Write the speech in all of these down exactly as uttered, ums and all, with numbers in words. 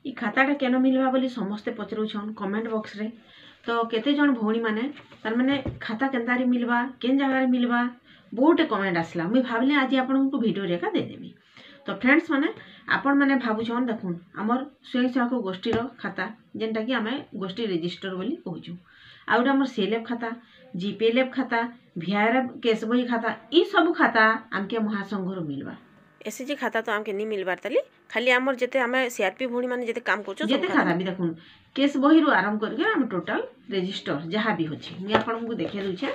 ଇ ଖାତାଟା କେନ ମିଲବା ବୋଲି ସମସ୍ତେ ପଚରୁଛନ୍ କମେଣ୍ଟ ବକ୍ସରେ। ତ କେତେ ଜଣ ଭଉଣୀମାନେ ତାର୍ମାନେ ଖାତା କେନ୍ତାରେ ମିଲବା, କେନ୍ ଜାଗାରେ ମିଲବା, ବହୁଟେ କମେଣ୍ଟ ଆସିଲା। ମୁଇଁ ଭାବିଲି ଆଜି ଆପଣଙ୍କୁ ଭିଡ଼ିଓରେ ଏକା ଦେଇଦେମି। ତ ଫ୍ରେଣ୍ଡସ୍ ମାନେ, ଆପଣମାନେ ଭାବୁଛନ୍, ଦେଖୁନ୍, ଆମର୍ ସ୍ୱୟଂ ସହାୟକ ଗୋଷ୍ଠୀର ଖାତା, ଯେନ୍ଟାକି ଆମେ ଗୋଷ୍ଠୀ ରେଜିଷ୍ଟର ବୋଲି କହୁଛୁ, ଆଉ ଗୋଟେ ଆମର ସିଏଲ୍ଏଫ୍ ଖାତା, ଜିପିଏଲ୍ଏଫ୍ ଖାତା, ଭିଆର୍ଏଫ୍ କେସ୍ ବହି ଖାତା, ଇ ସବୁ ଖାତା ଆମକେ ମହାସଂଘରୁ ମିଲବା। ଏସ୍ଏଚଜି ଖାତା ତ ଆମକେ ନି ମିଲବାର୍ ତାଲି, ଖାଲି ଆମର ଯେତେ ଆମେ ସିଆର୍ପି ଭଉଣୀ ମାନେ ଯେତେ କାମ କରୁଛୁ। ଯେତେ ଖାତା ବି ଦେଖୁନ୍, କେସ୍ ବହିରୁ ଆରମ୍ଭ କରିକି ଆମେ ଟୋଟାଲ ରେଜିଷ୍ଟର ଯାହା ବି ଅଛି, ମୁଇଁ ଆପଣଙ୍କୁ ଦେଖେଇ ଦଉଛେ।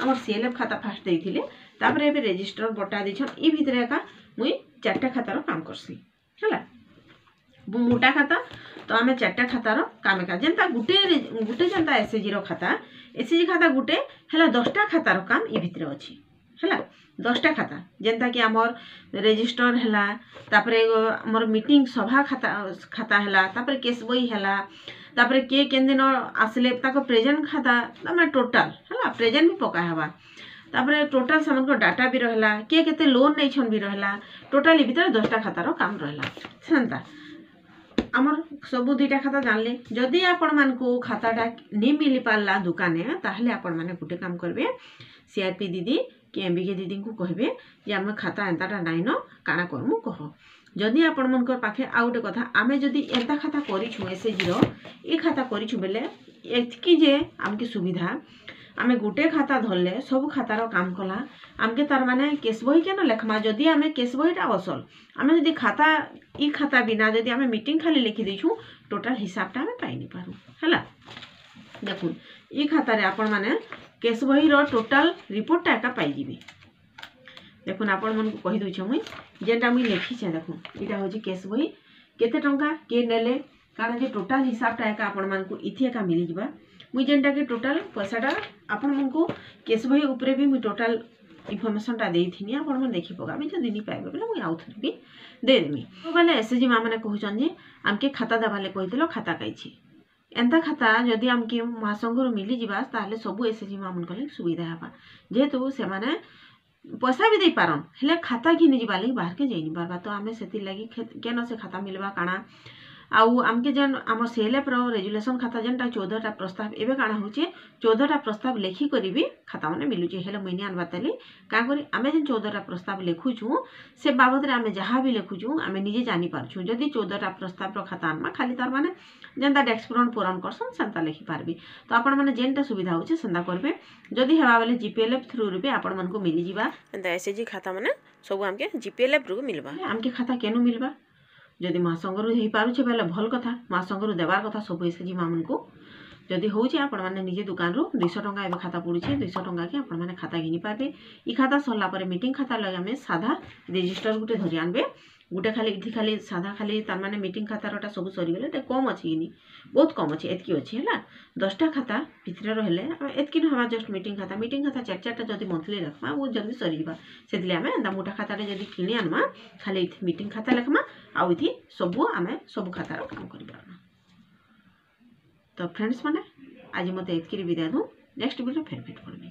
ଆମର ସିଏଲ୍ଏଫ୍ ଖାତା ଫାଷ୍ଟ ଦେଇଥିଲେ, ତାପରେ ଏବେ ରେଜିଷ୍ଟର ବଟା ଦେଇଛନ୍। ଇ ଭିତରେ ଏକା ମୁଇଁ ଚାରିଟା ଖାତାର କାମ କରସି। ହେଲା ମୋଟା ଖାତା ତ ଆମେ ଚାରିଟା ଖାତାର କାମ ଏକା ଯେନ୍ତା ଗୁଟେ ଗୁଟେ ଯେନ୍ତା ଏସ୍ଏଚଜିର ଖାତା, ଏସ୍ଏଚଜି ଖାତା ଗୁଟେ ହେଲା, ଦଶଟା ଖାତାର କାମ ଇ ଭିତରେ ଅଛି। ହେଲା ଦଶଟା ଖାତା, ଯେନ୍ତାକି ଆମର୍ ରେଜିଷ୍ଟର ହେଲା, ତାପରେ ଆମର ମିଟିଂ ସଭା ଖାତା ଖାତା ହେଲା, ତାପରେ କେସ୍ ବହି ହେଲା, ତାପରେ କିଏ କେନ୍ ଦିନ ଆସିଲେ ତାଙ୍କ ପ୍ରେଜେଣ୍ଟ ଖାତା, ମାନେ ଟୋଟାଲ ହେଲା ପ୍ରେଜେଣ୍ଟ ବି ପକା ହେବା। ତାପରେ ଟୋଟାଲ ସେମାନଙ୍କର ଡାଟା ବି ରହେଲା, କିଏ କେତେ ଲୋନ୍ ନେଇଛନ୍ ବି ରହେଲା। ଟୋଟାଲ ଇ ଭିତରେ ଦଶଟା ଖାତାର କାମ ରହେଲା। ସେନ୍ତା ଆମର ସବୁ ଦୁଇଟା ଖାତା ଜାଣିଲେ। ଯଦି ଆପଣମାନଙ୍କୁ ଖାତାଟା ନି ମିଲି ପାରିଲା ଦୋକାନେ, ତାହେଲେ ଆପଣମାନେ ଗୋଟେ କାମ କରିବେ, ସିଆର୍ପି ଦିଦି କି ଏମ୍ ବି କେ ଦିଦିଙ୍କୁ କହିବେ ଯେ ଆମେ ଖାତା ଏନ୍ତାଟା ନାଇଁନ, କାଣା କରମୁ କହ। ଯଦି ଆପଣମାନଙ୍କର ପାଖେ, ଆଉ ଗୋଟେ କଥା, ଆମେ ଯଦି ଏନ୍ତା ଖାତା କରିଛୁଁ, ଏସ୍ଏଚଜିର ଏ ଖାତା କରିଛୁଁ ବେଲେ ଏତ୍କି ଯେ ଆମକେ ସୁବିଧା, ଆମେ ଗୋଟେ ଖାତା ଧରଲେ ସବୁ ଖାତାର କାମ କଲା ଆମକେ। ତାର ମାନେ କେସ୍ ବହି କେନ ଲେଖମା? ଯଦି ଆମେ କେସ୍ ବହିଟା ଅସଲ, ଆମେ ଯଦି ଖାତା ଇ ଖାତା ବିନା ଯଦି ଆମେ ମିଟିଂ ଖାଲି ଲେଖି ଦେଇଛୁଁ, ଟୋଟାଲ ହିସାବଟା ଆମେ ପାଇନି ପାରୁ। ହେଲା ଦେଖୁନ୍, ଇ ଖାତାରେ ଆପଣମାନେ କେସ୍ ବହିର ଟୋଟାଲ ରିପୋର୍ଟଟା ଏକା ପାଇଯିବେ। ଦେଖୁନ୍, ଆପଣମାନଙ୍କୁ କହିଦେଉଛେ ମୁଇଁ ଯେନ୍ଟା ମୁଇଁ ଲେଖିଛେ। ଦେଖୁନ୍, ଏଇଟା ହେଉଛି କେସ୍ ବହି, କେତେ ଟଙ୍କା କିଏ ନେଲେ କାଣା ଯେ ଟୋଟାଲ ହିସାବଟା ଏକା ଆପଣମାନଙ୍କୁ ଇଥି ଏକା ମିଳିଯିବା। ମୁଇଁ ଯେନ୍ଟାକି ଟୋଟାଲ ପଇସାଟା ଆପଣମାନଙ୍କୁ କେସ୍ ବହି ଉପରେ ବି ମୁଇଁ ଟୋଟାଲ ଇନଫର୍ମେସନଟା ଦେଇଥିନି, ଆପଣମାନେ ଦେଖି ପକାବେ। ଯଦି ନି ପାଇବେ ବେଲେ ମୁଇଁ ଆଉଥରେ ବି ଦେଇଦେମି। ବେଲେ ଏସ୍ ଏଚ୍ ଜି ମା ମାନେ କହୁଛନ୍ ଯେ ଆମକେ ଖାତା ଦେବାର୍ ଲାଗି କହିଥିଲ, ଖାତା କାଇଛି? ଏନ୍ତା ଖାତା ଯଦି ଆମକେ ମହାସଂଘରୁ ମିଳିଯିବା, ତାହେଲେ ସବୁ ଏସ୍ ଏଚ୍ ଜି ମା ମାନଙ୍କର ଲାଗି ସୁବିଧା ହେବା, ଯେହେତୁ ସେମାନେ ପଇସା ବି ଦେଇପାରନ୍, ହେଲେ ଖାତା ଘିନି ଯିବାର୍ ଲାଗି ବାହାରକେ ଯାଇ ନି ପାରବା। ତ ଆମେ ସେଥିର୍ଲାଗି କେନ ସେ ଖାତା ମିଲବା କାଣା? ଆଉ ଆମକେ ଯେନ୍ ଆମ ସିଏଲ୍ଏଫ୍ର ରେଜୁଲେସନ୍ ଖାତା ଯେନ୍ଟା ଚଉଦଟା ପ୍ରସ୍ତାବ, ଏବେ କାଣା ହଉଛେ, ଚଉଦଟା ପ୍ରସ୍ତାବ ଲେଖିକରି ବି ଖାତାମାନେ ମିଲୁଛେ। ହେଲେ ମୁଇଁ ନି ଆନବାର୍ ତାଲି। କାଁ କରି ଆମେ ଯେନ୍ ଚଉଦଟା ପ୍ରସ୍ତାବ ଲେଖୁଛୁଁ, ସେ ବାବଦରେ ଆମେ ଯାହା ବି ଲେଖୁଛୁଁ, ଆମେ ନିଜେ ଜାଣିପାରୁଛୁଁ। ଯଦି ଚଉଦଟା ପ୍ରସ୍ତାବର ଖାତା ଆନମା, ଖାଲି ତାର ମାନେ ଯେନ୍ତା ଡେସ୍କ ପୂରଣ ପୂରଣ କରସନ୍, ସେନ୍ତା ଲେଖିପାରବେ। ତ ଆପଣମାନେ ଯେନ୍ଟା ସୁବିଧା ହଉଛେ, ସେନ୍ତା କରିବେ। ଯଦି ହେବା ବେଲେ ଜିପିଏଲ୍ଏଫ୍ ଥ୍ରୁରୁ ବି ଆପଣମାନଙ୍କୁ ମିଳିଯିବା। ଏନ୍ତା ଏସ୍ ଏଚ୍ ଜି ଖାତା ମାନେ ସବୁ ଆମକେ ଜିପିଏଲ୍ଏଫ୍ ରୁ ମିଲବା। ଆମକେ ଖାତା କେନୁ ମିଲବା? ଯଦି ମହାସଂଘରୁ ହେଇପାରୁଛେ ବେଲେ ଭଲ୍ କଥା। ମହାସଂଘରୁ ଦେବାର୍ କଥା ସବୁ ଏସ୍ ଏଚ୍ ଜି ମାମାନଙ୍କୁ। ଯଦି ହଉଛେ, ଆପଣମାନେ ନିଜେ ଦୋକାନରୁ, ଦୁଇଶହ ଟଙ୍କା ଏବେ ଖାତା ପଡ଼ୁଛେ, ଦୁଇଶହ ଟଙ୍କାକେ ଆପଣମାନେ ଖାତା ଘିନି ପାରବେ। ଇ ଖାତା ସରିଲା ପରେ ମିଟିଂ ଖାତା ଲାଗି ଆମେ ସାଧା ରେଜିଷ୍ଟର ଗୋଟେ ଧରି ଆନବେ ଗୋଟେ। ଖାଲି ଏଠି ଖାଲି ସାଧା ଖାଲି ତାର ମାନେ ମିଟିଂ ଖାତାରଟା ସବୁ ସରିଗଲେ ଏଟା କମ୍ ଅଛି କିନି, ବହୁତ କମ୍ ଅଛି, ଏତ୍କି ଅଛି। ହେଲା ଦଶଟା ଖାତା ଭିତରେ ରହିଲେ ଆମେ ଏତ୍କି ନ ହେବା। ଜଷ୍ଟ ମିଟିଂ ଖାତା ମିଟିଂ ଖାତା ଚାରି ଚାରିଟା ଯଦି ମନ୍ଥଲି ରଖମା, ବହୁତ ଜଲ୍ଦି ସରିଯିବା। ସେଥିଲାଗି ଆମେ ଏନ୍ତା ମୋଟା ଖାତାଟେ ଯଦି କିଣି ଆନମା, ଖାଲି ଏଠି ମିଟିଂ ଖାତା ଲେଖମା ଆଉ ଏଠି ସବୁ ଆମେ ସବୁ ଖାତାର କାମ କରିପାରମା। ତ ଫ୍ରେଣ୍ଡସ୍ ମାନେ, ଆଜି ମୋତେ ଏତ୍କିରେ ବିଦାୟ ଦଉଁ। ନେକ୍ସଟ ଭିଡ଼ିଓ ଫେର୍ ଭେଟ ପଡ଼ମି।